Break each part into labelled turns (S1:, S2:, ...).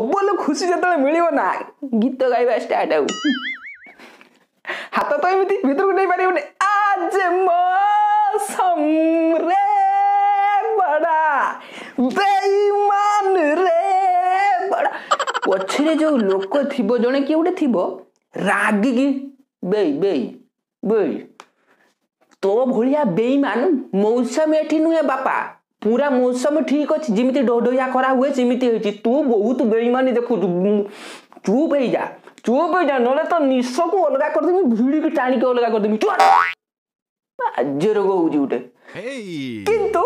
S1: Double ଖୁସି ଯେତେବେଳେ ମିଳିବ ନା, ଗୀତ ଗାଇବା ଷ୍ଟାର୍ଟ। ଆଉ ହାତ ତ ଏମିତି ଭିତରକୁ ନେଇପାରିବନି। ଆଜ ମୌସମ ରେ ବଡ଼ା ବେଇମାନ ରେ ବଡ଼ା। ପଛରେ ଯୋଉ ଲୋକ ଥିବ, ଜଣେ କିଏ ଗୋଟେ ଥିବ ରାଗିକି, ବେଇ ବେଇ ବେଇ, ତୋ ଭଳିଆ ବେଇମାନ ମୌସମ ଏଠି ନୁହେଁ ବାପା, ପୁରା ମୌସମ ଠିକ ଅଛି, ଯେମିତି ଢୋଢୋଇଆ ଖରା ହୁଏ ସେମିତି ହେଇଛି, ତୁ ବହୁତ ବେଇମାନି ଦେଖୁଛୁ, ଚୁପ ହେଇଯା, ଚୁପ ହେଇଯା, ନହେଲେ ତ ନିଶକୁ ଅଲଗା କରିଦେବି, ଭିଡ଼ିକି ଟାଣିକି ଅଲଗା କରିଦେବି। ବାଜ୍ୟ ରୋଗ ହଉଛି ଗୋଟେ। କିନ୍ତୁ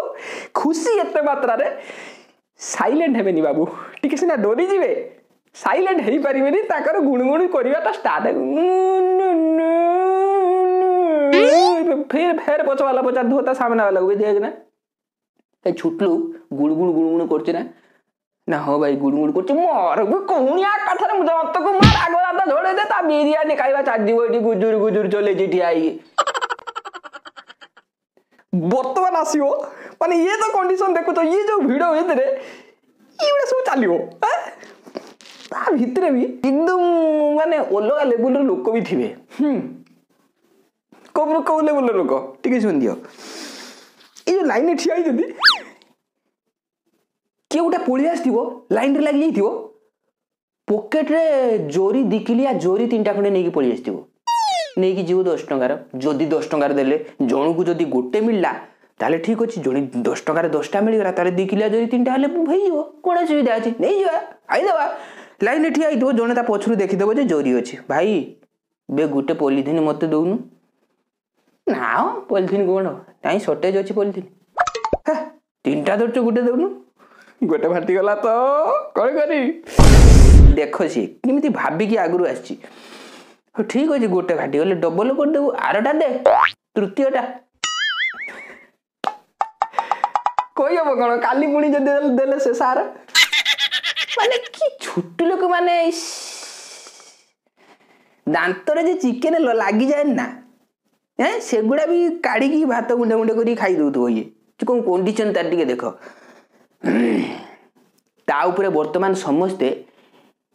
S1: ଖୁସି ଏତେ ମାତ୍ରାରେ ସାଇଲେଣ୍ଟ ହେବେନି ବାବୁ, ଟିକେ ସିନା ଡରିଯିବେ, ସାଇଲେଣ୍ଟ ହେଇପାରିବେନି। ତାଙ୍କର ଗୁଣୁଗୁଣୁ କରିବାଟା ଷ୍ଟାର୍ଟ। ଫେର ଫେର ପଛ ବାଲା ପଚାରୁଥିବ ତା ସାମ୍ନା ବାଲାକୁ, ଦେଖ ନା ଏ ଛୁଟଲୁ ଗୁଣୁଗୁଣୁ ଗୁଣୁଗୁଣୁ କରୁଛି ନା? ନା ହଁ ଭାଇ, ଗୁଣୁଗୁଣୁ କରୁଛି। ମୋର ବି କହୁଣିଆ କଥାରେ ଜନ୍ତକୁ ମାର, ଆଗ ଦାନ୍ତ ଝଡେଇ ଦେ, ତା ବିରିୟାନୀ ଖାଇବା ଚାଲିଯିବ। ଏଠି ଗୁଜୁରୁ ଗୁଜୁରୁ ଚଲେଇଛି ଠିଆ ହେଇକି। ବର୍ତ୍ତମାନ ଆସିବ ମାନେ ଇଏ ତ କଣ୍ଡିସନ ଦେଖୁଛ, ଇଏ ଯୋଉ ଭିଡ ଭିତରେ ଏଇଗୁଡ଼ା ସବୁ ଚାଲିବ, ତା ଭିତରେ ବି ଏକଦମ ମାନେ ଅଲଗା ଲେବୁଲର ଲୋକ ବି ଥିବେ। କୋଉ କୋଉ ଲେବୁଲର ଲୋକ ଟିକେ ଶୁଣିଦିଅ। ଏଇ ଯୋଉ ଲାଇନରେ ଠିଆ ହେଇଛନ୍ତି, କିଏ ଗୋଟେ ପଳେଇ ଆସିଥିବ, ଲାଇନରେ ଲାଗି ଯାଇଥିବ, ପକେଟରେ ଜରି 2 କିଲିଆ ଜରି 3ଟା ଖଣ୍ଡେ ନେଇକି ପଳେଇ ଆସିଥିବ, ନେଇକି ଯିବ 10 ଟଙ୍କାର। ଯଦି 10 ଟଙ୍କାର ଦେଲେ ଜଣକୁ ଯଦି ଗୋଟେ ମିଳିଲା ତାହେଲେ ଠିକ ଅଛି, ଜଣେ 10 ଟଙ୍କାରେ 10ଟା ମିଳିଗଲା, ତାହେଲେ 2 କିଲିଆ ଜରି 3ଟା ହେଲେ ହେଇଯିବ, କ'ଣ ଅସୁବିଧା ଅଛି, ନେଇଯିବା ଖାଇଦେବା। ଲାଇନରେ ଠିଆ ହେଇଥିବ ଜଣେ, ତା ପଛରୁ ଦେଖିଦେବ ଯେ ଜରି ଅଛି। ଭାଇ ବେ, ଗୋଟେ ପଲିଥିନ୍ ମତେ ଦଉନୁ। ନା, ପଲିଥିନ୍ କ'ଣ ନାଇଁ, ସର୍ଟେଜ ଅଛି ପଲିଥିନ୍। 3ଟା ଧରୁଛୁ, ଗୋଟେ ଦଉନୁ। ଗୋଟେ ଫାଟିଗଲା ତ କ'ଣ କରିବି? ଦେଖ ସିଏ କେମିତି ଭାବିକି ଆଗରୁ ଆସିଛି, ହଉ ଠିକ ଅଛି, ଗୋଟେ ଫାଟିଗଲେ ଡବଲ କରିଦେବୁ, ଆରଟା ଦେ, ତୃତୀୟଟା। କହିହବ କ'ଣ? କାଲି ପୁଣି ଯଦି ଦେଲେ ସେ ସାର ମାନେ କି ଛୋଟ ଲୋକ, ମାନେ ଦାନ୍ତରେ ଯେ ଚିକେନ ଲାଗିଯାଏ ନା, ସେଗୁଡ଼ା ବି କାଢିକି ଭାତ ଗୁଣ୍ଡ ଗୁଣ୍ଡ କରିକି ଖାଇ ଦଉଥିବ। ଇଏ କଣ କଣ୍ଡିସନ ତାର ଟିକେ ଦେଖ। ତା ଉପରେ ବର୍ତ୍ତମାନ ସମସ୍ତେ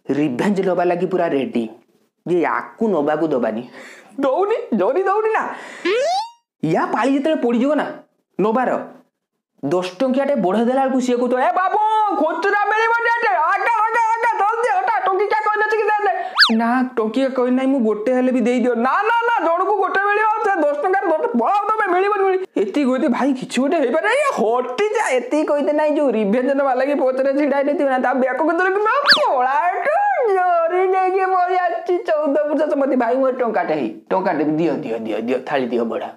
S1: ରିଭେଞ୍ଜ ନେବା ଲାଗି ପୁରା ରେଡି ଯେ ୟାକୁ ନବାକୁ ଦବାନି। ଦଉନି ଜରି, ଦଉନି ନା। ୟା ପାଳି ଯେତେବେଳେ ପଡିଯିବ ନା ନବାର, 10 ଟଙ୍କିଆଟେ ବଢେଇ ଦେଲା ବେଳକୁ ସିଏ କହୁଥିବ, ଏ ବାବୁ ଖୁଚୁରା ମିଳିବନି ଏଠି, ଆଗା ଆଗା ଆଗା ଜଲ୍ଦି ହଟା, ଟଙ୍କିକିଆ କଏନ ଅଛି କି ଦେ। ନା, ଟଙ୍କିଆ କଏନ ନାହିଁ, ମୁଁ ଗୋଟେ ହେଲେ ବି ଦେଇଦିଅ। ନା ନା ନା, ଜଣକୁ ଗୋଟେ ମିଳିବ, ସେ 10 ଟଙ୍କାରେ ପଳାଅ ତମେ, ମିଳିବନି। ଏତିକି କହିଦେ ଭାଇ, କିଛି ଗୋଟେ ହେଇପାରେ, ହଟି ଯା। ଏତିକି କହିଦେ ନାଇଁ, ଯୋଉ ରିଭେଞ୍ଜ ନେବା ଲାଗି ପଛରେ ଛିଡା ହେଇନଥିବ ନା, ତା ବେକକୁ ଧରିକି ପଳା ଏଠୁ, ଜରି ନେଇକି ପଳେଇ ଆସିଛି 14 ପୁରୁଷ ସମ୍ପତ୍ତି। ଭାଇ ମୋର ଟଙ୍କାଟେ, ହେଇ ଟଙ୍କାଟେ ଦିଅ ଦିଅ ଦିଅ ଦିଅ, ଥାଳି ଦିଅ ବଢା।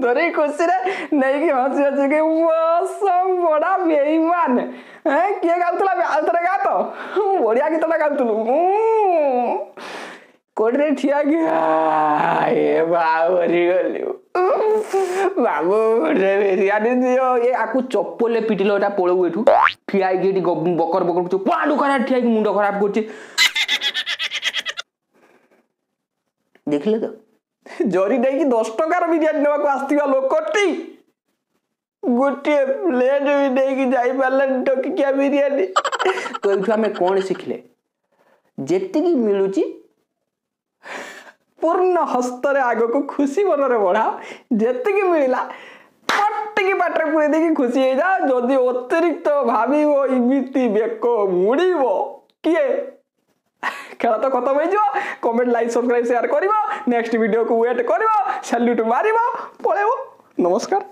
S1: ଧରି ଖୁସିରେ ନେଇକି ହସି ହସିକି ବଡା ବେଇମାନ। କିଏ ଗାଉଥିଲା? ଆଉ ଥରେ ଗା ତ, ବଢିଆ ଗୀତଟା ଗାଉଥିଲୁ। କୋଉଠିରେ ଠିଆ କି ଏ ମରିଗଲି ବାବୁ, ବିରିୟାନୀ ଦିଅ। ଏ ଆକୁ ଚପଲରେ ପିଟିଲ, ଏଟା ପଳଉ ଏଠୁ। ଠିଆ ହେଇକି ଏଠି ବକର ବକର କରୁଛୁ, ପଳାଡୁ ଖରାପ, ଠିଆ ହେଇକି ମୁଣ୍ଡ ଖରାପ କରୁଛି। ଦେଖିଲେ ତ, ଜରି ନେଇକି 10 ଟଙ୍କାର ବିରିୟାନୀ ନେବାକୁ ଆସିଥିବା ଲୋକଟି ଗୋଟିଏ ପ୍ଲେଟ୍ ବି ନେଇକି ଯାଇପାରିଲାନି ଟଙ୍କିକିଆ ବିରିୟାନୀ। ତ ଏଇଠୁ ଆମେ କ'ଣ ଶିଖିଲେ? ଯେତିକି ମିଳୁଛି ପୂର୍ଣ୍ଣ ହସ୍ତରେ ଆଗକୁ ଖୁସି ମନରେ ବଢ଼ାଅ। ଯେତିକି ମିଳିଲା ପଟିକି ପାଟିରେ ପୁରେଇ ଦେଇକି ଖୁସି ହେଇଯାଅ। ଯଦି ଅତିରିକ୍ତ ଭାବିବ, ଏମିତି ବେକ ମୁଡ଼ିବ କିଏ, ଖେଳ ତ ଖତମ ହେଇଯିବ। କମେଣ୍ଟ, ଲାଇକ୍, ସବସ୍କ୍ରାଇବ, ସେୟାର କରିବ, ନେକ୍ସଟ ଭିଡ଼ିଓକୁ ୱେଟ୍ କରିବ, ସାଲ୍ୟୁଟ୍ ମାରିବ, ପଳେଇବ। ନମସ୍କାର।